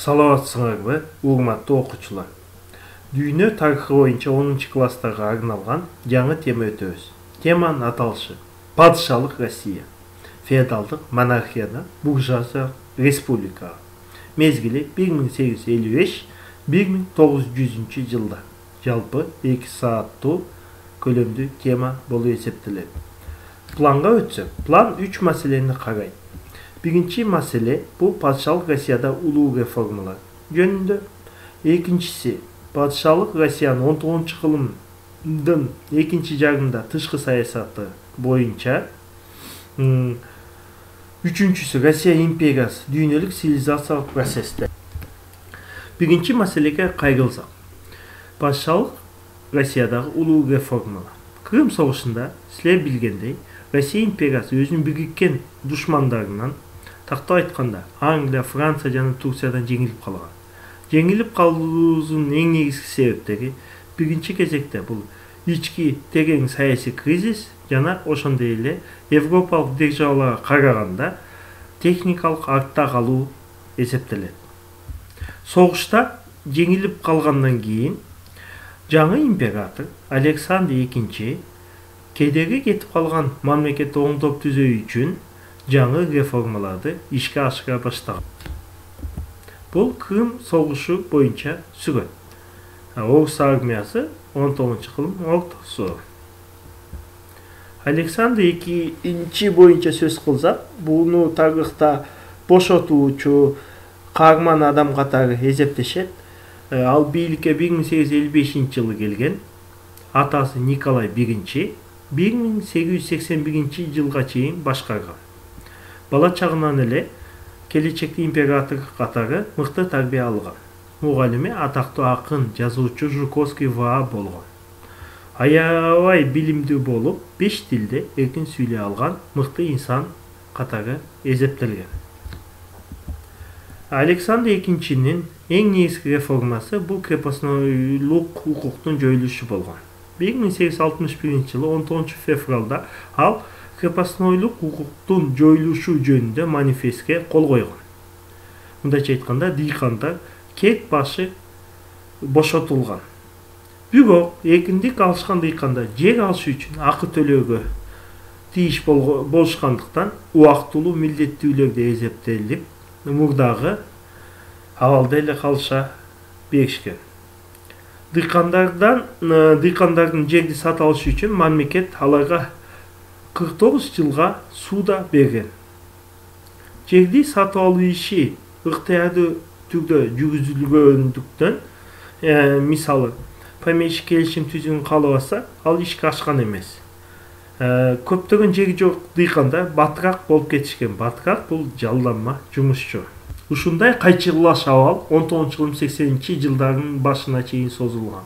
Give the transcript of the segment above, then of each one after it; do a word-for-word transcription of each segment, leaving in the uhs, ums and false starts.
Саламатсыңарбы, урматтуу окуучулар. Дүйнө тарыхы боюнча онунчу класстарга арналган жаңы тема өтөбүз. Теманын аталышы падышалык Россия. Феодалдык монархиядан буржуазия республикага. Мезгили бир миң сегиз жүз элүү беш — бир миң тогуз жүзүнчү жылдар. Жалпы эки сааттуу көлөмдүү тема болуп эсептелет. Планга өтсөк, план үч маселени карайт. Биринчи маселе бул падышалык Россияда улуу реформалар жөнүндө. Экинчиси падышалык Россиянын он тогузунчу кылымдын экинчи жарымында тышкы саясаты боюнча. Үчүнчүсү Россия империясы дүйнөлүк цивилизациялык процессте. Биринчи маселеге кайрылсак, падышалык Россиядагы улуу реформалар. Крым согушунда силер билгендей, Россия империясы өзүнүн бириккен душмандарынан, тактап айтканда, Англия, Франция жана Турциядан жеңилип калган. Жеңилип калуусунун эң негизги себептери биринчи кезекте бул ички терең саясий кризис жана ошондой эле Европалык державаларга караганда техникалык артта калуу эсептелет. Согушта жеңилип калгандан кийин жаңы император Александр экинчи кедерги кетип калган мамлекетти оңдоп түзөө үчүн жаңы реформаларды ишке ашыра баштаган. Бул Крым согушу боюнча сүрөт. Орус армиясы он тогузунчу кылым ортосу. Александр экинчи боюнча сөз кылсак, буну тарыхта бошотуучу каарман адам катары эсептешет. Ал бийликке бир миң сегиз жүз элүү бешинчи жылы келген. Атасы Николай биринчи бир миң сегиз жүз сексен биринчи жылга чейин башкарган. Бала чагынан эле келечекте император катары мыкты тарбия алган. Мугалими атактуу акын, жазуучу Жуковский Ваа болгон. Аябай билимдүү болуп, беш тилде эркин сүйлөй алган мыкты инсан катары эсептелген. Александр экинчинин эң негизги реформасы бул крепостнойлук укуктун жоюлушу болгон. бир миң сегиз жүз алтымыш биринчи жылы он тогузунчу февралда ал крепостнойлук укуктун жоюлушу жөнүндө манифестке кол койгон. Мындайча айтканда, дыйкандар кек башы бошотулган. Бирок эркиндик алышкан дыйкандар жер алыш үчүн акы төлөөгө тийиш болушкандыктан убактылуу милдеттүүлөрдө эсептелип, мурдагы абалда эле калыша беришкен. Дыйкандардан дыйкандардын жерди сатып алышы үчүн мамлекет аларга кырк тогуз жылга сууда берген. Жерди сатып алуу иши ыктыярдуу түрдө жүргүзүлгөндүктөн, мисалы, помещик келишим түзүүнү каалабаса, ал ишке ашкан эмес. Көптөгөн жери жок дыйкандар батыраак болуп кетишкен. Батыраак бул жалданма жумушчу. Ушундай кайчылаш абал он тогузунчу кылым сексенинчи жылдардын башына чейин созулган.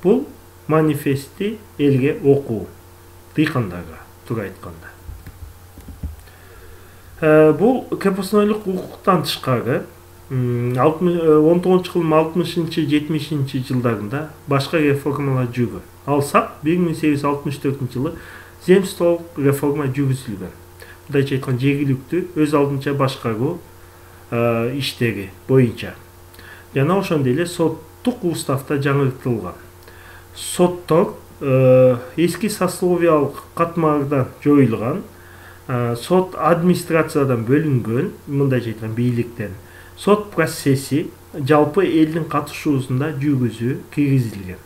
Бул манифестти элге окуу, дыйкандарга туура айтканда. Бул крепостнойлук укуктан тышкары он тогузунчу кылым алтымышынчы жетимишинчи жылдарында башка реформалар жүргөн. Алсак, бир миң сегиз жүз алтымыш төртүнчү жылы земстволук реформа жүргүзүлгөн. Мындайча айтканда, жергиликтүү өз алдынча башкаруу иштери боюнча. Жана ошондой эле соттук уставда жаңыртылган. Соттор эски сословиялык катмардан жоюлган, сот администрациядан бөлүнгөн, мындайча айтканда бийликтен. Сот процесси жалпы элдин катышуусунда жүргүзүү киргизилген.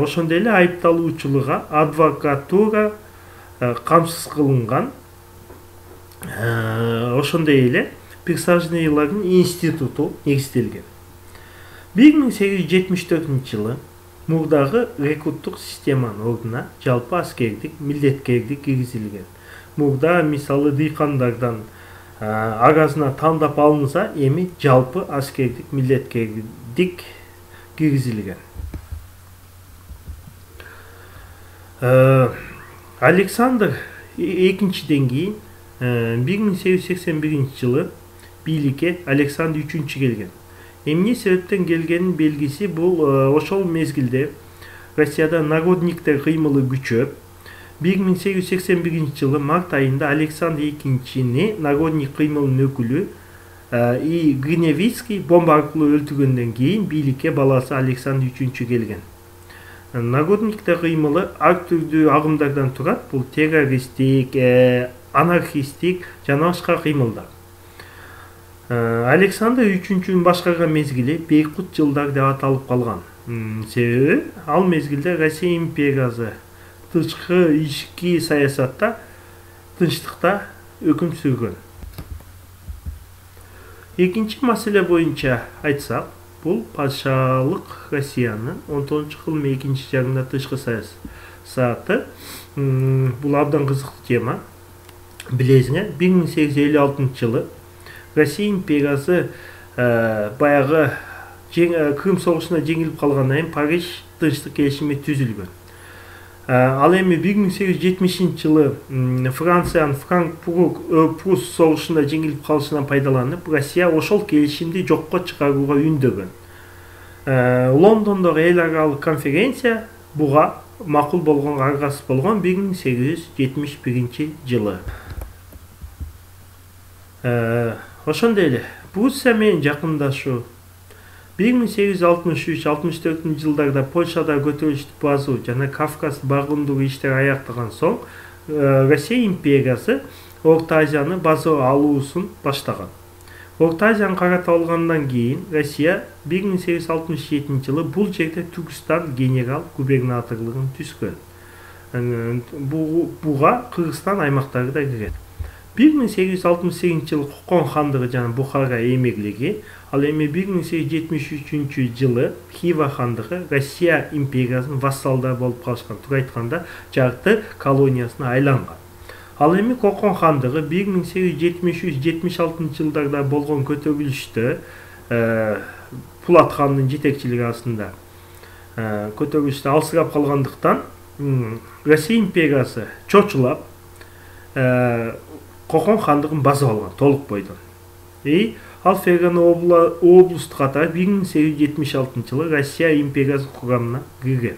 Ошондой эле айыпталуучуларга адвокатура камсыз кылынган. Ошондой эле присяжныйлардын институту негизделген. бир миң сегиз жүз жетимиш төртүнчү жылы мурдагы рекруттук системанын ордуна жалпы аскердик милдеткердик киргизилген. Мурда, мисалы, дыйкандардан арасына тандап алынса, эми жалпы аскердик милдеткердик киргизилген. Александр экинчиден кийин бир миң сегиз жүз сексен биринчи жылы бийликке Александр үчүнчү келген. Эмне себептен келгенин белгиси бул ошол мезгилде Россияда народниктер кыймылы күчөп, бир миң сегиз жүз сексен биринчи жылы март айында Александр экинчини Народный кыймылынын өкүлү И Гриневицкий бомба аркылуу өлтүргөндөн кийин бийликке баласы Александр үчүнчү келген. Народниктер кыймылы ар түрдүү агымдардан турат. Бул террористтик, анархисттик жана башка кыймылдар. Александр үчүнчүнүн башкарган мезгили Бейкут жылдар деп аталып калган. Себеби ал мезгилде Россия империясы тышкы ички саясатта тынчтыкта өкүм сүргөн. Экинчи маселе боюнча айтсак, бул падышалык Россиянын он тогузунчу кылымдын экинчи жарымында тышкы саясаты. Бул абдан кызыктуу тема. Билесиңер, бир миң сегиз жүз элүү алтынчы жылы Россия империясы баягы Крым согушуна жеңилип калгандан кийин Париж тынчтык келишими түзүлгөн. Ал эми бир миң сегиз жүз жетимишинчи жылы Франциянын Франк-Прус согушунда жеңилип калышынан пайдаланып, Россия ошол келишимди жокко чыгарууга үндөгөн. Лондондогу эл аралык конференция буга макул болгон, аргасыз болгон бир миң сегиз жүз жетимиш биринчи жылы. Ошондой эле Пруссия менен жакындашуу бир миң сегиз жүз алтымыш үч алтымыш төртүнчү жылдарда Польшада көтөрүлүштү базуу жана Кавказ багындыруу иштери аяктаган соң Россия империясы Орто Азияны базуу алуусун баштаган. Орто Азияны каратып алгандан кийин Россия бир миң сегиз жүз алтымыш жетинчи жылы бул жерде Түркстан генерал губернаторлугун түзгөн. Буга Кыргызстан аймактары да кирет. бир миң сегиз жүз алтымыш сегизинчи жылы Кокон хандыгы жана Бухара эмирлиги, ал эми бир миң сегиз жүз жетимиш үчүнчү жылы Хива хандыгы Россия империясынын вассалдары болуп калышкан, туура айтканда жарты колониясына айланган. Ал эми Кокон хандыгы бир миң сегиз жүз жетимиш үч жетимиш алтынчы жылдарда болгон көтөрүлүштө Пулат хандын жетекчилиги астында көтөрүлүштө алсырап калгандыктан Россия империясы чочулап Кокон хандыгын басып алган толук бойдон. И ал Фергана облусту катары бир миң сегиз жүз жетимиш алтынчы жылы Россия империясынын курамына кирген.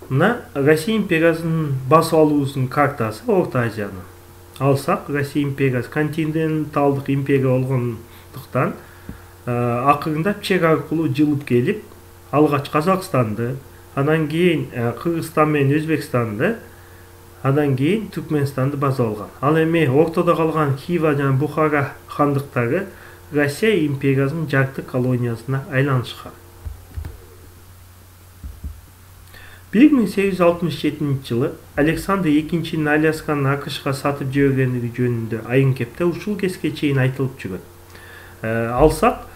Мына Россия империясынын басып алуусунун картасы Орто Азияны. Алсак, Россия империясы континенталдык империя болгондуктан акырында чек аркылуу жылып келип, алгач Казакстанды, анан кийин Кыргызстан менен Өзбекстанды, андан кийин Түркмөнстанды басып алган. Ал эми ортодо калган Хива жана Бухара хандыктары Россия империясынын жарты колониясына айланышкан. бир миң сегиз жүз алтымыш жетинчи жылы Александр экинчинин Алясканы АКШга сатып жибергендиги жөнүндө айын кепте ушул кезге чейин айтылып жүрөт. Алсак,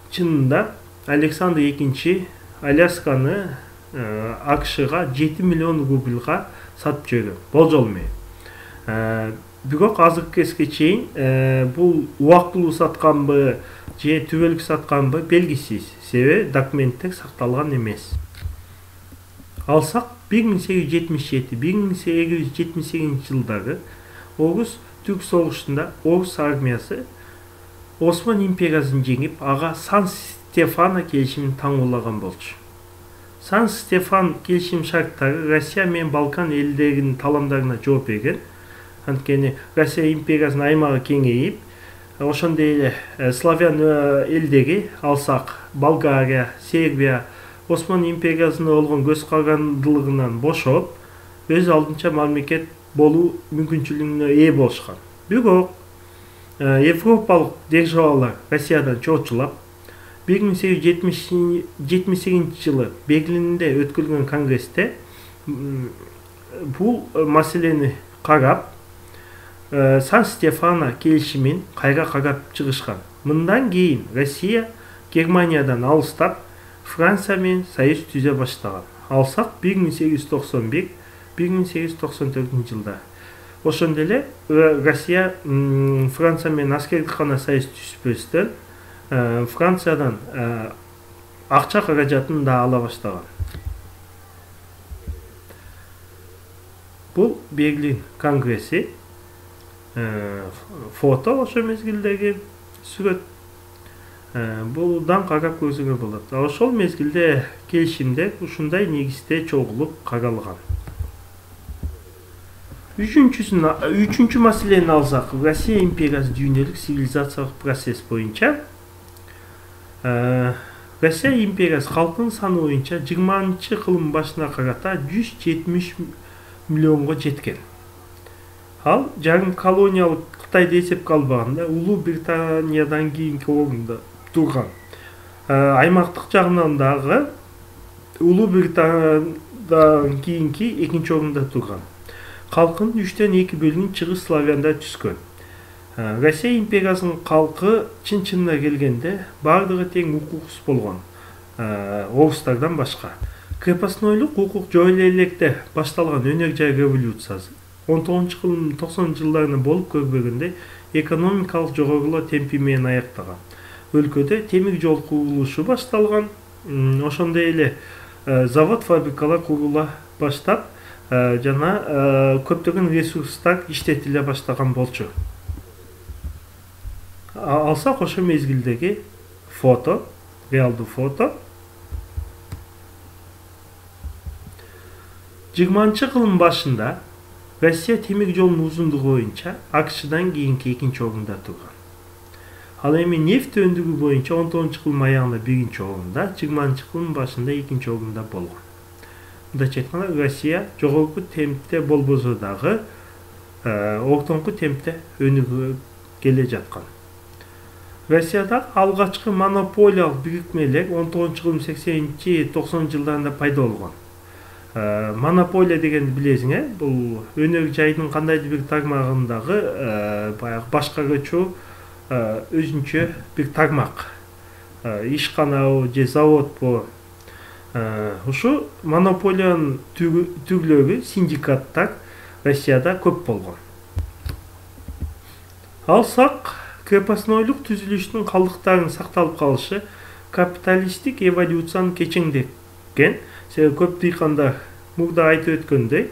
чынында Александр экинчи Алясканы АКШга жети миллион рубльга сатып жиберген. Болжол менен. Бирок азыркы кезге чейин бул убактылуу сатканбы же түбөлүк сатканбы белгисиз. Себеби документтер сакталган эмес. Алсак, бир миң сегиз жүз жетимиш жети бир миң сегиз жүз жетимиш сегизинчи жылдары Орус Түрк согушунда Орус армиясы Осман империясын жеңип, ага Сан-Стефано келишимин таңуулаган болчу. Сан-Стефан келишим шарттары Россия менен Балкан элдеринин таламдарына жооп берген. Анткени Россия империясынын аймагы кеңейип, ошондой эле славян элдери, алсак Болгария, Сербия, Осман империясына болгон көз карандылыгынан бошоп, өз алдынча мамлекет болуу мүмкүнчүлүгүнө ээ болушкан. Бирок европалык державалар Россиядан чочулап, бир миң сегиз жүз жетимиш сегизинчи жылы Берлинде өткөрүлгөн конгрессте бул маселени карап, Сан-Стефано келишимин кайра карап чыгышкан. Мындан кийин Россия Германиядан алыстап, Франция менен союз түзө баштаган. Алсак, бир миң сегиз жүз токсон бир бир миң сегиз жүз токсон төртүнчү жылда. Ошондой эле Россия Франция менен аскердик гана союз түзбөстөн Франциядан акча каражатын да ала баштаган. Бул Берлин конгресси, фото ошо мезгилдеги сүрөт. Будан карап көрсөңөр болот. Ошол мезгилде келишимдер ушундай негизде чогулуп каралган. Үчүнчүсүн үчүнчү маселени алсак, Россия империясы дүйнөлүк цивилизациялык процесс боюнча Россия империясы калкынын саны боюнча жыйырманчы кылымдын башына карата жүз жетимиш миллионго жеткен. Ал жарым колониялык Кытайды эсепке албаганда Улуу Британиядан кийинки орунда турган. Аймактык жагынан дагы Улуу Британиядан кийинки экинчи орунда турган. Калкынын үчтөн эки бөлүгүн чыгыс славяндар түзгөн. Россия империясынын калкы чын-чынына келгенде бардыгы тең укуксуз болгон, орустардан башка. Крепостнойлук укук жойуло электе башталган өнөр жай революциясы он тогузунчу кылымдын токсонунчу жылдарында болуп көрбөгөндө экономикалык жогорулоо темпи менен аяктаган. Өлкөдө темир жол курулушу башталган, ошондой эле завод фабрикалар курула баштап, жана көптөгөн ресурстар иштетиле баштаган болчу. Алсак ошо мезгилдеги фото, реалдуу фото. жыйырманчы кылымдын башында Россия темир жолунун узундугу боюнча АКШдан кийинки экинчи орунда турган. Ал эми нефть өндүрүү боюнча он тогузунчу кылымдын аягында биринчи орунда, жыйырманчы кылымдын башында экинчи орунда болгон. Мындайча айтканда, Россия жогорку темпте болбосо дагы ортоңку темпте өнүгүп келе жаткан. Россияда алгачкы монополиялык бирикмелер он тогузунчу кылымдын сексенинчи токсонунчу жылдарында пайда болгон. Монополия дегенди билесиң, бул өнөр жайдын кандайдыр бир тармагындагы баягы башкаруучу өзүнчө бир тармак. Ишканабы же заводбу. Ушу монополиянын түрлөрү, синдикаттар Россияда көп болгон. Алсак, крепостнойлук түзүлүшүнүн калдыктарынын сакталып калышы капиталисттик эволюцияны кечиңдеткен. Себеби көп дыйкандар мурда айтып өткөндөй,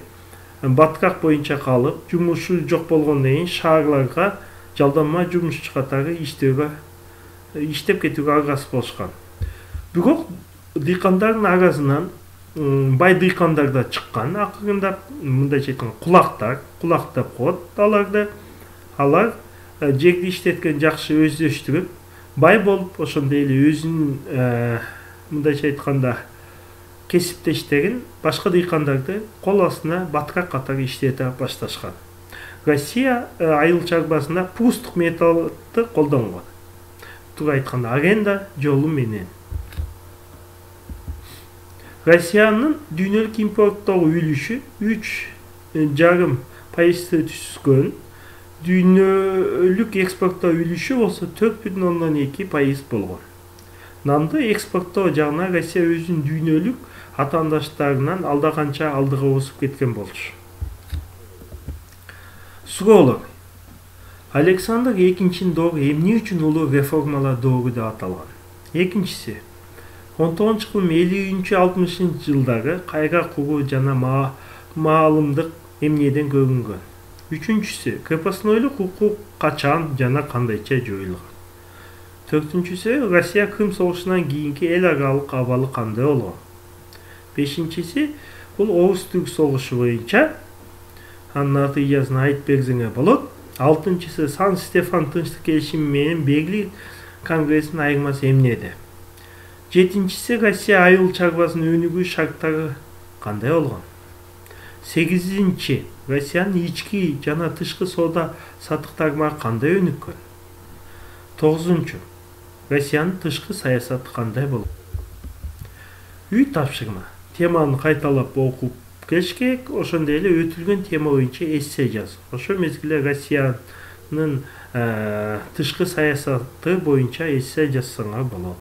баткак боюнча калып, жумушу жок болгондон кийин шаарларга жалданма жумушчу катары иштөөгө, иштеп кетүүгө аргасыз болушкан. Бирок дыйкандардын арасынан бай дыйкандар да чыккан. Акырында мындайча айтканда кулактар, кулак деп коет аларды. Алар жерди иштеткен жакшы өздөштүрүп, бай болуп, ошондой эле өзүнүн мындайча айтканда кесиптештерин башка дыйкандарды кол астына баткак катары иштете башташкан. Россия айыл чарбасында пустук металлды колдонгон. Туура айтканда аренда жолу менен. Россиянын дүйнөлүк импорттогу үлүшү үч жарым пайызды түзгөн. Дүйнөлүк экспорттоо үлүшү болсо төрт бүтүн ондон эки пайыз болгон. Нанды экспорттоо жагынан Россия өзүнүн дүйнөлүк атаандаштарынан алда канча алдыга басып кеткен болчу. Суроолор. Александр экинчинин доору эмне үчүн улуу реформалар доору деп аталган? Экинчиси, он тогузунчу кылым элүүнчү алтымышынчы жылдары кайра куруу жана маалымдык эмнеден көрүнгөн? Үчүнчүсү, крепостнойлук укук качан жана кандайча жоюлган? Төртүнчүсү, Россия Крым согушунан кийинки эл аралык абалы кандай болгон? Бешинчиси, бул Орус-Түрк согушу боюнча анын натыйжасын айтып берсеңер болот. Алтынчысы, Сан-Стефан тынчтык келишими менен Берлин конгрессинин айырмасы эмнеде? Жетинчиси, Россия айыл чарбасынын өнүгүү шарттары кандай болгон? Сегизинчи, Россиянын ички жана тышкы соода сатык тармагы кандай өнүккөн? Тогузунчу, Россиянын тышкы саясаты кандай болгон? Үй тапшырма. Теманы кайталап окуп келиш керек, ошондой эле өтүлгөн тема боюнча эссе жаз. Ошол мезгилде Россиянын тышкы саясаты боюнча эссе жазсаңар болот.